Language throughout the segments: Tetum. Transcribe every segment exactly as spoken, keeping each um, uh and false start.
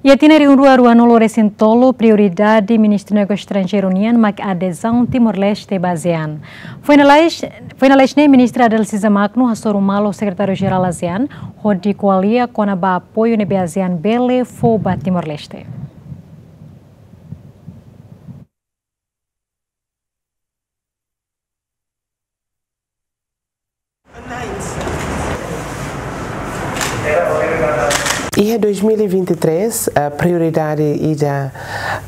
Iha tinan rihun rua ruanulu-resin-tolu, prioridade Ministru Negósiu Estranjeiru nian mak adezaun Timor-Leste ba ASEAN. Foin lalais, foin lalais ne'e Ministra Adalcisa Magno hasoru malu Sekretáriu-Jerál ASEAN, hodi ko'alia kona-ba apoiu ne'ebé ASEAN bele fó ba Timor-Leste. Iha dois mil e vinte e três, ah, prioridade ida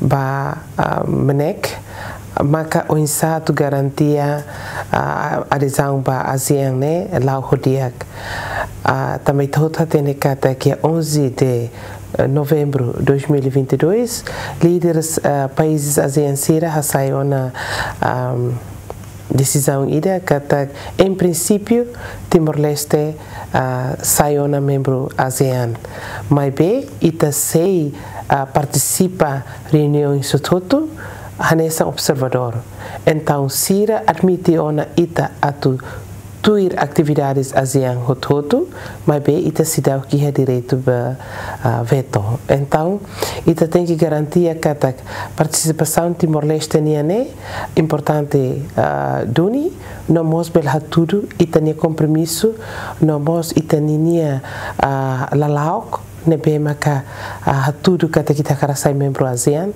ba, ah, MNEK maka oinsá atu garantia, ah, adezaun ba ASEAN ne'e la'o ho di'ak. Ah, tanba ita hotu hatene katak iha onze de eh, novembru dois mil e vinte e dois, líderes, eh, países ASEAN sira hasai ona, ahm, desizaun ida katak, em princípio, Timor-Leste, ah, sai ona membru ASEAN. Maibé, ita sei, ah, partisipa reuniaun hotu-hotu hanesan observadór. Entaun, sira admite ona ita atu tuir atividades ASEAN hotu-hotu, maibé ita seidauk iha direitu ba, ah, veto. Entaun, ita tenke garantia katak partisipasaun Timor-Leste nian ne'e importante, ah, duni, no mós bele hatudu ita-nia kompromisu, no mós ita-nia, ah, lala'ok, ne'ebé maka, ah, hatudu katak ita hakarak sai membru ASEAN.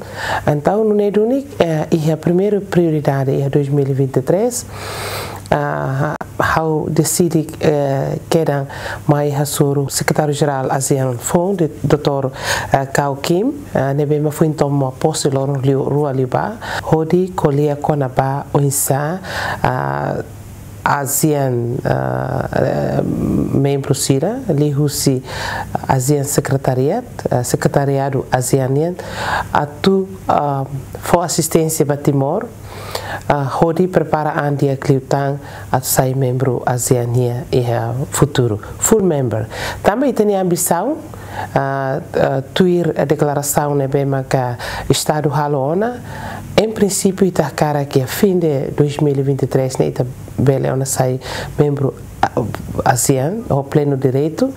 Entaun, nune'e duni, eh, iha primeiru prioridade iha dois mil e vinte e três, ah, ha'u deside, eh, kedan mai hasoru Sekretáriu-Jerál ASEAN foun, de doutór, eh, Kao Kim, eh, ne'ebé mak foin toma pose loron liu, rua liubá, hodi ko'alia kona-ba oinsá, ah, ASEAN, ah, eh, membru sira, liuhusi ASEAN Secretariat, eh, Sekretariadu ASEAN nian, atu, ah, fó asisténsia ba Timor, ah, hodi prepara an di'ak liután atu sai membru ASEAN nian iha futuru, full member. Tanba ita-nia ambisaun, ah, ah, tuir deklarasaun ne'ebé maka Estadu halo ona, em princípio ita hakarak iha fim de dois mil e vinte e três ne'e ita bele ona sai membru, ah, ASEAN ho plenu direitu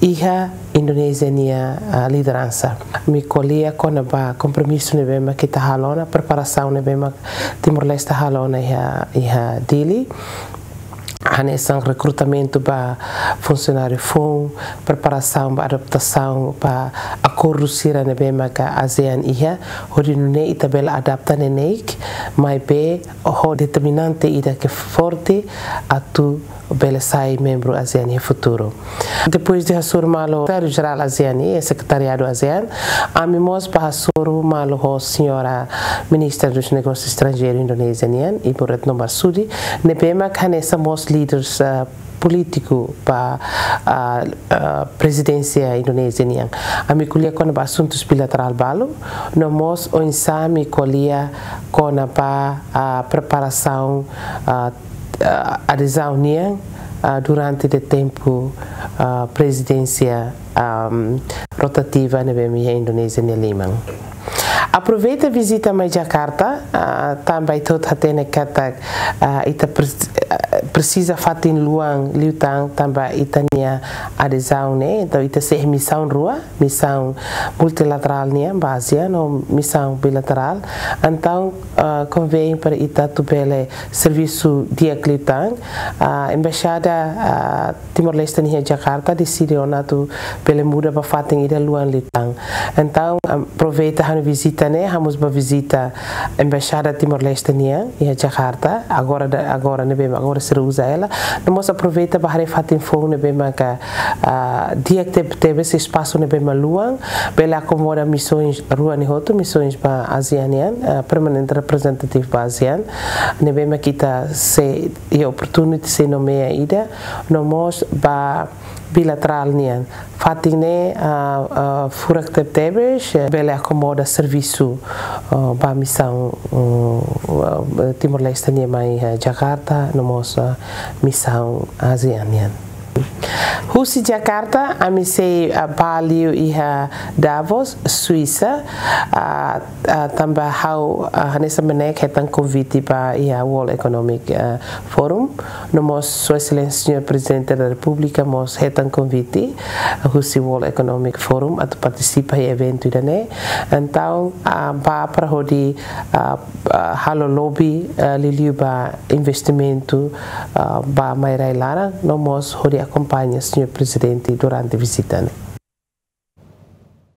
iha Indonézia nia, ah, lideransa. Ami ko'alia kona-ba kompromisu ne'ebé mak ita halo ona, preparasaun ne'ebé mak Timor-Leste halo ona iha, iha Dili. Hanesan rekrutamentu ba funsionáriu foun, preparasaun ba adaptasaun ba akordu sira ne'ebé maka ASEAN iha, hodi nune'e ita bele adapta neineik, maibé ho determinante ida ke forte atu bele sai membru ASEAN iha futuru. Depois de hasoru malu Sekretáriu-Jerál ASEAN i Sekretariadu ASEAN, ami mós bá hasoru malu ho señora Ministra dos Negósius Estranjeirus Indonézia nian, Ibu Retno Marsudi, ne'ebé mak hanesan mós líderes, ah, polítiku ba, ah, ah, prezidénsia Indonézia nian. Ami ko'alia kona-ba asuntus bilaterál balu, no mós oinsá ami ko'alia kona-ba, ah, preparasaun, ah, ah, adezaun nian, ah, durante de tempu, ah, prezidénsia, ahm, rotativa ne'ebé mak iha Indonézia nia liman. Aproveita vizita mai Jakarta, ah, tanba ita hotu hatene katak, ah, ita pres-, ah, presiza fatin luan liután tanba ita-nia adezaun ne'e, entaun ita sei iha misaun rua, misaun multilaterál nian ba ASEAN no misaun bilaterál. Entaun, ah, konvém para ita atu bele servisu di'ak liután. Ah, Embaixada, ah, Timor-Leste nian iha Jakarta deside ona atu bele muda ba fatin ida luan liután. Entaun, aproveita ha'u-nia vizita ne'e, ha'u mós bá vizita Embaixada Timor-Leste nian iha Jakarta, agora da, agora ne'ebé, agora sira uza hela. No mós aproveita bá haree fatin foun ne'ebé maka, ah, di'ak teb-, tebes, espasu ne'ebé mak luan, bele akomoda misoens rua ne'e hotu, misoens ba ASEAN nian, ah, permanente representative ba ASEAN, ne'ebé mak ita sei iha opportunity sei nomeia ida, no mós ba bilaterál nian. Fatin ne'e, ah, ah, furak tebetebes, eh, bele akomoda servisu, ah, ba misaun, mm, ah, Timor-Leste nian mai, eh, Jakarta, no mós, ah, misaun ASEAN nian. Husi Jakarta, ami sei, ah, bá liu iha Davos, Suisa, ah, ah, tanba ha'u, ah, hanesan mak ne'e hetan konvite ba iha World Economic, ah, Forum, no mós Sua Exelénsia Señór Prezidente da Repúblika mós hetan konvite, ah, husi World Economic Forum atu partisipa iha eventu ida-ne'e. Entaun, ah, bá para hodi, ah, ah, halo lobby, ah, liuliu ba investimentu, ah, ba mai-rai laran, no mós hodi akompaña Señór Prezidente durante vizita ne'e.